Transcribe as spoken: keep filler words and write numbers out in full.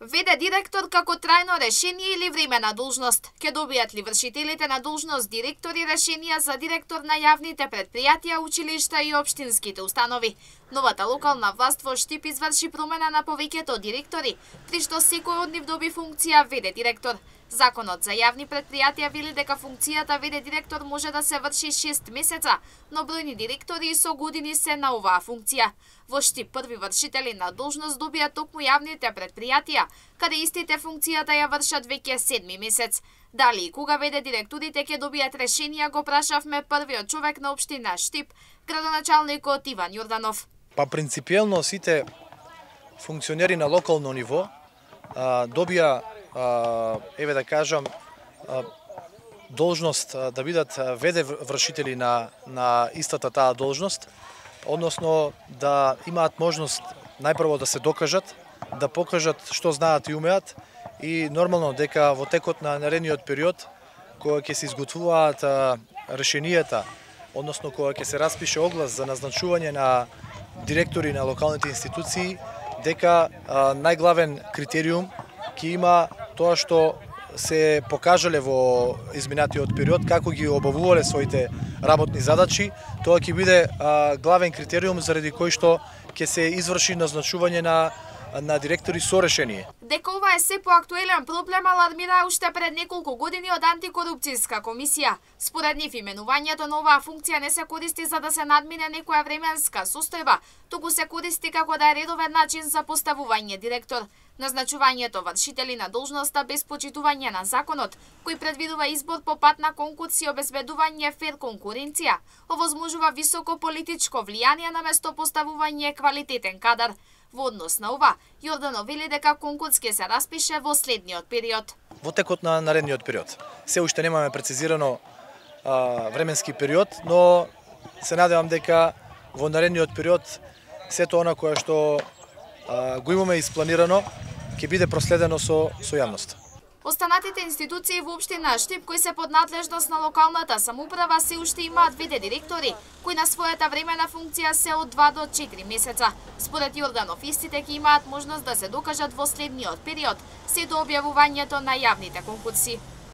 Веде директор како трајно решение или времена должност? Ке добијат ли вршителите на должност директори решенија за директор на јавните предпријатија, училишта и општинските установи? Новата локална власт во Штип изврши промена на повеќето директори, при што секој од нив доби функција веде директор. Законот за јавни предпријатија вели дека функцијата веде директор може да се врши шест месеца, но бројни директори со години се на оваа функција. Во Штип први вршители на должност добија токму јавните предпријатија, каде истите функцијата ја вршат веќе седми месец. Дали и кога веде директорите ќе добијат решенија, го прашавме првиот човек на општина Штип, градоначалникот Иван Јорданов. Па принципиелно сите функционери на локално ниво а, добија Uh, еве да кажам, uh, должност uh, да бидат веде вршители на, на истата таа должност, односно да имаат можност најпрво да се докажат, да покажат што знаат и умеат и нормално дека во текот на наредниот период, кога ќе се изготвуваат uh, решенијата, односно кога ќе се распише оглас за назначување на директори на локалните институции, дека uh, најглавен критериум ќе има тоа што се покажале во изминатиот период, како ги обавувале своите работни задачи, тоа ќе биде а, главен критериум заради кој што ќе се изврши назначување на на директори со решение. Дека ова е се поактуелен проблем алармира уште пред неколку години од антикорупцијска комисија. Според нив именувањето на оваа функција не се користи за да се надмине некоја временска состојба, туку се користи како да е редовен начин за поставување директор. Назначувањето вршители на должноста без почитување на законот, кој предвидува избор по пат на конкурс и обезбедување фер конкуренција, овозможува високо политичко влијание наместо поставување квалитетен кадар. Во однос на ова, Јорданов вели дека конкурс ќе се распише во следниот период. Во текот на наредниот период. Се уште немаме прецизирано а, временски период, но се надевам дека во наредниот период сето она кое што а, го имаме испланирано ќе биде проследено со, со јавност. Останатите институции во општина Штип кои се под надлежност на локалната самоуправа се уште имаат веде директори, кои на својата времена функција се од два до четири месеца. Според Јорданов, истите ќе имаат можност да се докажат во следниот период, се до објавувањето на јавните конкурси.